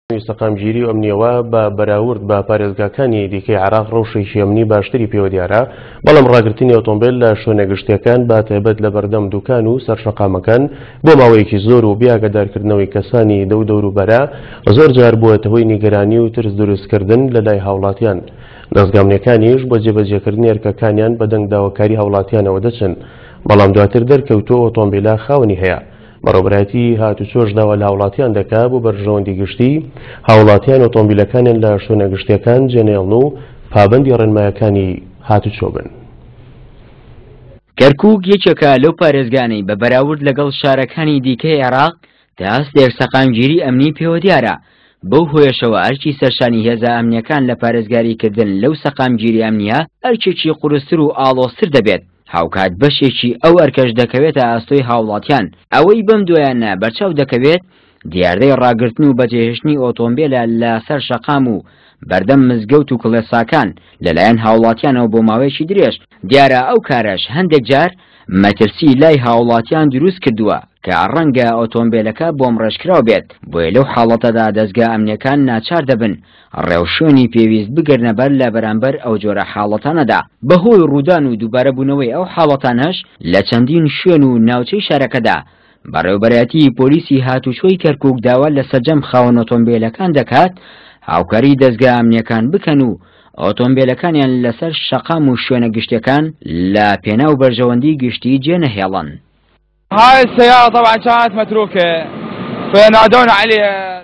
سەقامگیری و ئەمنییەوە بە بەراورد بە پارێزگاکانی دیکەی عێراق ڕەوشێکی ئەمنی باشتری پێوە دیارە، بەڵام ڕاگرتنی ئۆتۆمبێل لە شوێنە گشتییەکان بە تایبەت لە بەردەم دوکان و سەر شەقامەکان بۆ ماوەیەکی زۆر و بێ ئاگادارکردنەوەی کەسانی دەو دەوروبەرە زۆر جار بووەتە هۆی نیگەرانی و ترس دروستکردن لە لای هاوڵاتیان. دەزگا ئەمنییەکانیش بۆ جێبەجێکردنی ئەرکەکانیان بەدەنگ داواکاری هاوڵاتیانەوە دەچن، بەڵام دواتر دەرکەوتووە ئۆتۆمبیلە خاوەنی هەیە. بەڕێوەبەرایەتی هاتوچۆش داوا لە هاوڵاتیان دەکا بۆ بەرژەوەندی گشتی هاوڵاتیان ئۆتۆمبیلەکانیان لە شوێنە گشتیەکان جێنەیەڵن و پابەندی ڕێنمایەکانی هاتوچۆ بن. کەرکوک یەکێکە لەو پارێزگانەی بە بەراورد لەگەڵ شارەکانی دیکەی عێراق تا ئاستێک سەقامگیری ئەمنی پێوە دیارە، بەو هۆیەشەوە ئەرکی سەرشانی هێزە ئەمنییەکان لە پارێزگاریکردن لەو سەقامگیری ئەمنییە ئەرکێکی قورستر و ئاڵۆزتر دەبێت. هاوکات بەشێکی ئەو ئەرکەش دەکەوێتە ئاستۆی هاوڵاتیان، ئەوەی بەم دوایانە بەرچاو دەکەوێت دیاردەی ڕاگرتن و بەجێهێشتنی ئۆتۆمبێلە لە سەر شەقام و بەردەم مزگەوت و کڵێساکان لەلایەن هاوڵاتیانەوە بۆ ماوەیەکی درێژ، دیارە ئەو کارەش هەندێک جار مەترسی لای هاوڵاتیان دروست کردووە کە ڕەنگە ئۆتۆمبێلەکە بۆمڕێژکراو بێت، بۆیە لەو حاڵەتەدا دەزگا ئەمنیەکان ناچار دەبن ڕێوشوێنی پێویست بگرنە بەر لە بەرامبەر ئەو جۆرە حاڵەتانەدا. بەهۆی ڕوودان و دووبارەبوونەوەی ئەو حاڵەتانەش لە چەندین شوێن و ناوچەی شارەکەدا، بەڕێوەبەرایەتیی پۆلیسی هاتوچۆی کەرکوک داوا لە سەرجەم خاوەن ئۆتۆمبێلەکان دەکات هاوکاری دەزگا ئەمنییەکان بکەن و ئۆتۆمبێلەکانیان لەسەر شەقام و شوێنە گشتیەکان لە پێناو بەرژەوەندی گشتی جێنەهێڵن. هاي السيارة طبعا كانت متروكة فنادونا عليها.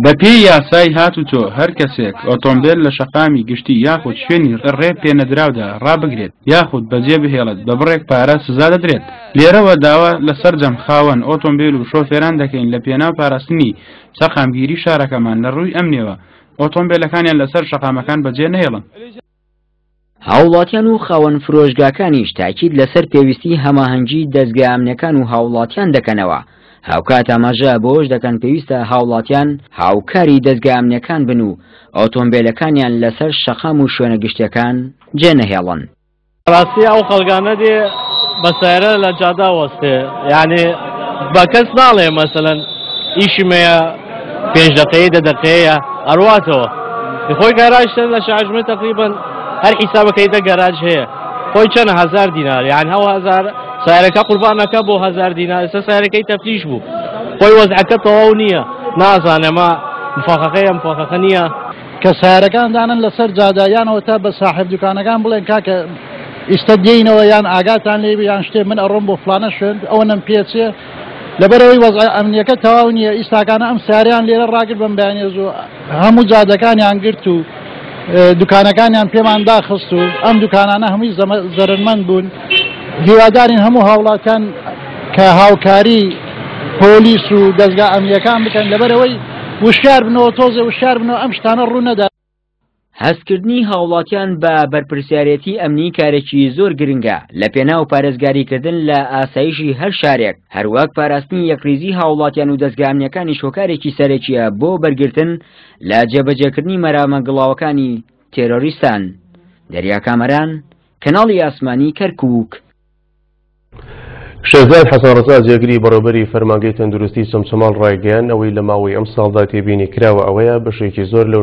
بەپێی یاسای هاتوچۆ هەر کەسێک ئۆتۆمبێل لە شەقامی گشتی یاخود شوێنی ڕێ پێنەدراودا ڕابگرێت یاخود بەجێ بهێڵێت بە بڕێک پارە سزا دەدرێت. لێرەوە داوا لە سەرجەم خاوەن ئۆتۆمبێل و شۆفێران دەکەین لە پێناو پاراستنی سەقامگیری شارەکەمان لە ڕووی ئەمنیەوە ئۆتۆمبێلەکانیان لەسەر شەقامەکان بەجێ نەهێڵن. هاوڵاتیان و خاوەن فرۆشگاکانیش تاکید لەسەر پێویستی هەماهەنگی دەزگا ئەمنیەکان و هاوڵاتیان دەکەنەوە، هاوکات ئاماژە بەوەش دەکەن پێویستە هاوڵاتیان هاوکاری دەزگا ئەمنیەکان بن و ئۆتۆمبێلەکانیان لەسەر شەقام و شوێنە گشتیەکان جێنەهێڵن. ڕاستی ئەو خەڵکانە دێ بە سەیارە لە جادا وەستێ یعنی بە کەس ناڵێ مەسەلەن ئیشم هەیە پێنج دقەیە دە دقەیە ئەڕواتەوە خۆی گەراج لە شاژمە تقریبا هەر حیسابەکەی دە گەراج هەیە خۆی چەند هزار دینار یان هەو هزار سیارەکە قوربانەکە بۆ هزار دینار ئێستا سیارەکەی تەفلیش بوو خۆی وەزعەکە تەواو نییە نازانێ ما مفاخەکەیە مفاخەکە نییە. کە سەیارەکان دانن لەسەر جادە یان ئەوەتا بە ساحێب دوکانەکان بڵێن کاکە ئیستە دێینەوە یان ئاگاتان لێ بێ یان شتێ من ئەڕۆم بۆ فلانە شوێن ئەوەنەم پێچێ لەبەرەوەی وەزع ئەمنیەکە تەواو نییە ئیستاکانە ئەم ساریان لێرە ڕاگرت بەم بەیانیە زوو هەموو جادەکانیان گرت و دوکانەکانیان پێمان داخست و ئەم دوکانانە هەمووی زەرەرمەند بوون هیوادارین هەموو هاوڵاتیان کە هاوکاری پۆلیس و دەزگا ئەمنیەکان بکەن لەبەرەوەی وشیار بنەوە تۆزێ وشیار بنەوە ئەم شتانە ڕوو نەدا. هەستکردنی هاوڵاتیان بە بەرپرسیارێتی ئەمنی کارێکی زۆر گرنگە لە پێناو پارێزگاریکردن لە ئاسایشی هەر شارێک، هەروەک پاراستنی یەکڕیزی هاوڵاتیان و دەزگا ئەمنیەکانیش هۆکارێکی سەرەکیە بۆ بەرگرتن لە جێبەجێکردنی مەرامە گڵاوەکانی تێرۆریستان. دەریا کامەران، کەناڵی ئاسمانی کەرکوک. شێرزاد حەسەن ڕەزا جێگری بەڕێوبەری فەرمانگەی تەندروستی چەمچەماڵ ڕایگەیاند، ئەوەی لە ماوەی ئەمساڵدا تێبینی کراوە ئەوەیە بەشێکی زۆر لەو.